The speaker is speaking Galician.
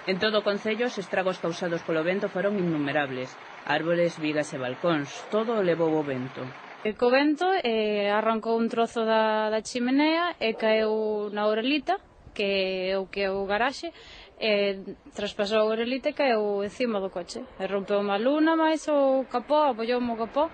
En todo o concello os estragos causados polo vento foron innumerables. Árbores, vigas e balcóns, todo o levou o vento. Co vento arrancou un trozo da chimenea e caeu na orelita, que é o garaxe, traspasou a orelita e caeu encima do coche. E rompeu unha luna, máis o capó, apollou o capó.